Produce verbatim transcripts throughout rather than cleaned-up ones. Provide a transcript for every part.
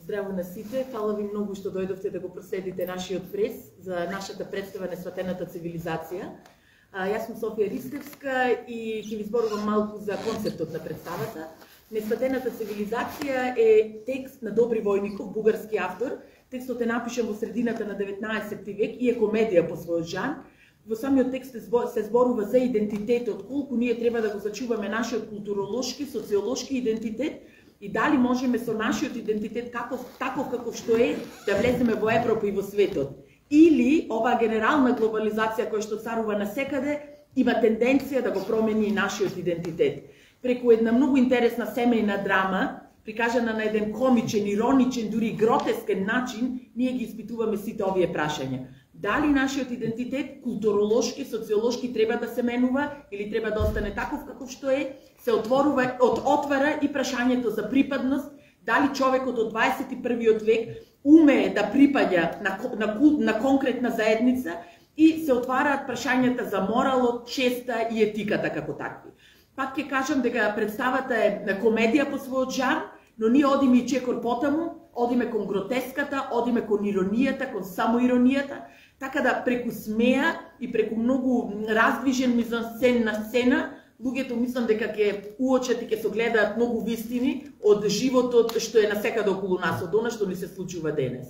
Здраво на сите, фала ви многу што дојдовте да го проследите нашиот прес за нашата представа Несватената цивилизација. А, јас сум Софија Ристевска и ќе ви зборувам малку за концептот на представата. Несватената цивилизација е текст на Добри Војников, бугарски автор. Текстот е напишан во средината на деветнаесетти век и е комедија по својот жан. Во самиот текст се зборува за идентитетот, колку ние треба да го зачуваме нашиот културолошки, социолошки идентитет и дали можеме со нашиот идентитет каков, таков каков што е да влеземе во Европа и во светот. Или оваа генерална глобализација која што царува насекаде има тенденција да го промени нашиот идентитет. Преку една многу интересна семејна драма, прикажана на еден комичен, ироничен, дури гротескен начин, ние ги испитуваме сите овие прашања. Дали нашиот идентитет, културолошки, социолошки треба да се менува или треба да остане таков каков што е, се отворува, от, отвара и прашањето за припадност, дали човекот од дваесет и првиот век умее да припаѓа на, на, на конкретна заедница и се отвараат прашањата за моралот, честа и етиката како такви. Пак ќе кажам дека представата е на комедија по својот жан, но ние одиме и чекор потаму, одиме кон гротеската, одиме кон иронијата, кон самоиронијата, така да преку смеа и преку многу раздвижен мизансцен на сцена, луѓето мислам дека ќе уочат и ќе се гледаат многу вистини од животот што е насекаде околу нас, од она што ни се случува денес.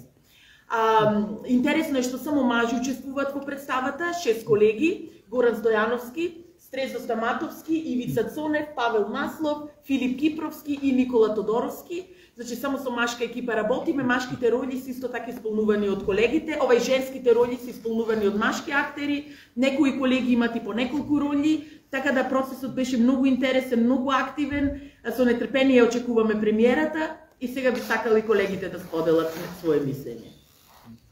А, интересно е што само мажи учествуваат во представата, шест колеги, Горан Стојановски, Стрезо Стаматовски, Ивица Цонев, Павел Маслов, Филип Кипровски и Никола Тодоровски. Значи само со машка екипа работиме, машките роли се исто така исполнувани од колегите, овај женските роли се исполнувани од машки актери, некои колеги имат и по неколку роли, така да процесот беше многу интересен, многу активен, со нетрпение очекуваме премиерата и сега би сакали колегите да споделат своje мислење.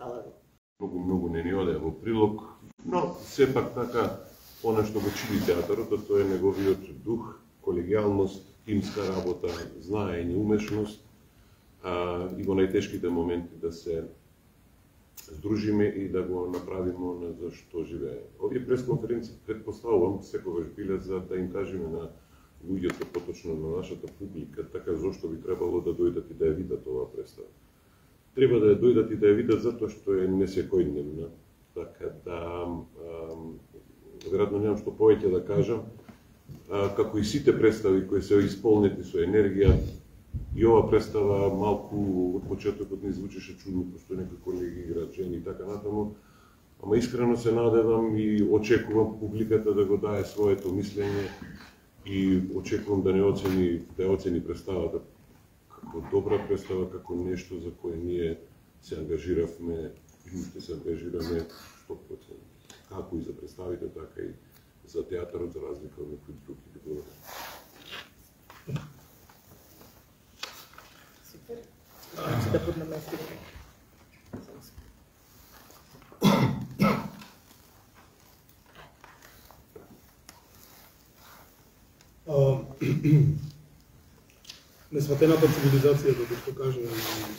Фала ви. Многу, многу не ни оде во прилог, но сепак така, она што го чини театарот, тоа е неговиот дух, колегијалност, тимска работа, знаење, умешност, а, и во најтешките моменти да се здружиме и да го направиме на за што живее. Овие пресконференции предпоставувам секогаш биле за да им кажеме на луѓето, поточно на нашата публика, така зошто би требало да дојдат и да ја видат оваа представа. Треба да ја дојдат и да ја видат затоа што е несекојдневна, така да веројатно немам што повеќе да кажам, а, како и сите представи кои се исполнети со енергија, и ова представа малку од почетокот не звучеше чудно, пошто некои колеги играат жени и така натаму, ама искрено се надевам и очекувам публиката да го дае своето мислење и очекувам да не оцени, да ја оцени представата како добра представа, како нешто за кое ние се ангажиравме и ще се ангажираме сто проценти. Како и за представите, така и за театарот, за разлика од некои други видове. Супер. Значи да поднаместиме. Несватената цивилизација, да го кажа на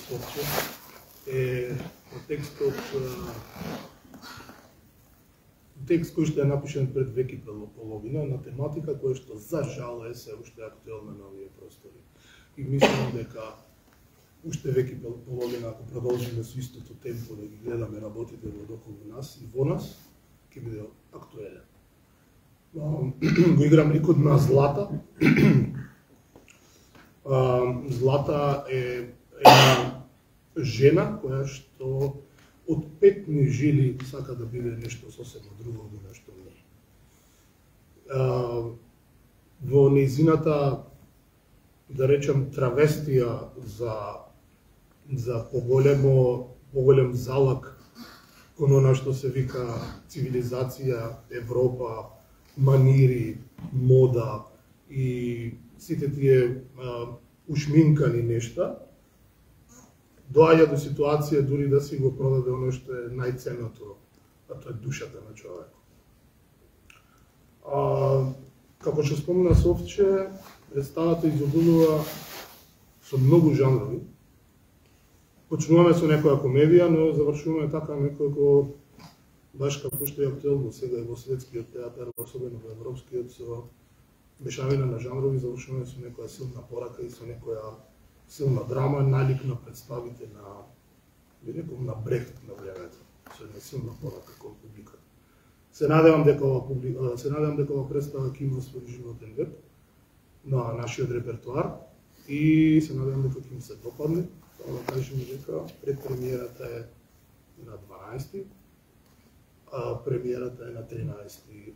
Софче, е текстот текст кој што е напишан пред век и половина на тематика која што за жал е се уште актуелна на овие простори. И мислам дека уште век и половина, ако продолжиме со истото темпо да ги гледаме работите во околу нас и во нас, ќе биде актуелен. Го играм ликот на Злата. Злата е една жена која што од петни жили сака да биде нешто сосема друго од нешто не. Во нејзината, да речем, травестија за за поголемо поголем залак кон она што се вика цивилизација, Европа, манири, мода и сите тие а, ушминкани нешта, доаѓа до ситуација дури да си го продаде оно што е најценното, а тоа е душата на човекот. А, како што спомна Софче, представата изобилува со многу жанрови. Почнуваме со некоја комедија, но завршуваме така некој баш како што е актуелно сега и во светскиот театар, особено во европскиот, со мешавина на жанрови, завршуваме со некоја силна порака и со некоја силна драма, налик на представите на, би рекол, на Брехт на времето, со една силна порака кон публиката. Се надевам дека ова публика, се надевам дека ова представа ќе има свој животен век на нашиот репертоар и се надевам дека ќе им се допадне. Тоа да кажеме дека предпремиерата е на дванаести, а премиерата е на тринаести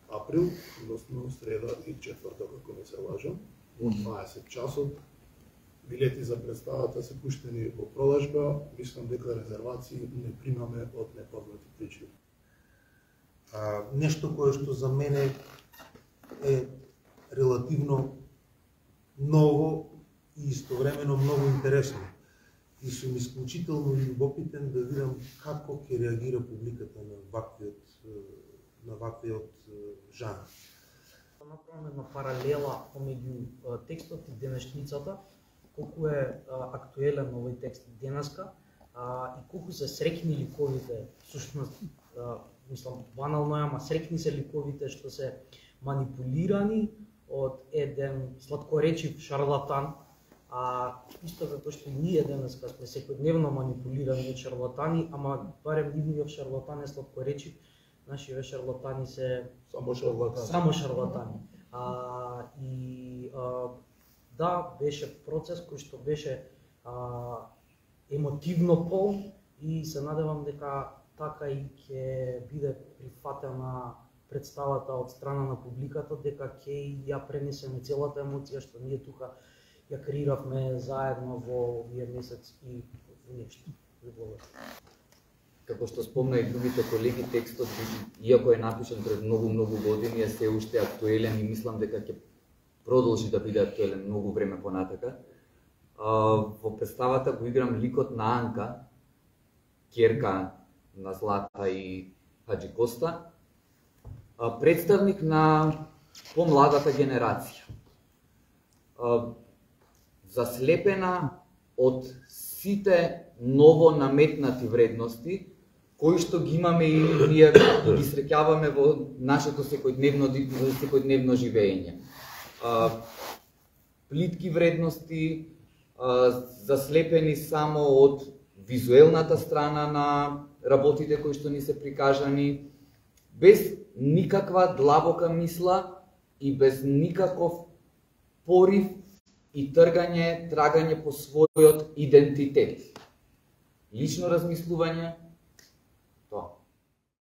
април, односно среда и четврток, ако не се лажам, во дваесет часот. Билети за представата се пуштени во продажба, мислам дека резервации не примаме од непознати причини. А, нешто кое што за мене е релативно ново и истовремено многу интересно. И сум исклучително љубопитен да видам како ќе реагира публиката на ваквиот на ваквиот жанр. Направаме една паралела помеѓу текстот и денешницата, колку е а, актуелен овој текст денеска а, и колку се среќни ликовите, всушност, а, мислам, банално е, ама среќни се ликовите што се манипулирани од еден сладкоречив шарлатан, а исто како што и ние денеска сме секојдневно манипулирани од шарлатани, ама барем нивниот шарлатан е сладкоречив, нашиве шарлатани се Само шарлатани. Само шарлатани. А, и а, да, беше процес кој што беше а, емотивно полн и се надевам дека така и ќе биде прифатена представата од страна на публиката, дека ќе ја пренесеме целата емоција што ние тука ја креиравме заедно во овие месец и во нешто. Како што спомна и другите колеги, текстот, иако е напишан пред многу-многу години, е се уште актуелен и мислам дека ќе продолжи да биде актуелен многу време понатака. Во представата го играм ликот на Анка, ќерка на Злата и Хаджи Коста, представник на помладата генерација. Заслепена од сите ново наметнати вредности кои што ги имаме и ние ги среќаваме во нашето секојдневно секојдневно живење. Плитки вредности, заслепени само од визуелната страна на работите кои што ни се прикажани, без никаква длабока мисла и без никаков порив и тргање, трагање по својот идентитет. Лично размислување,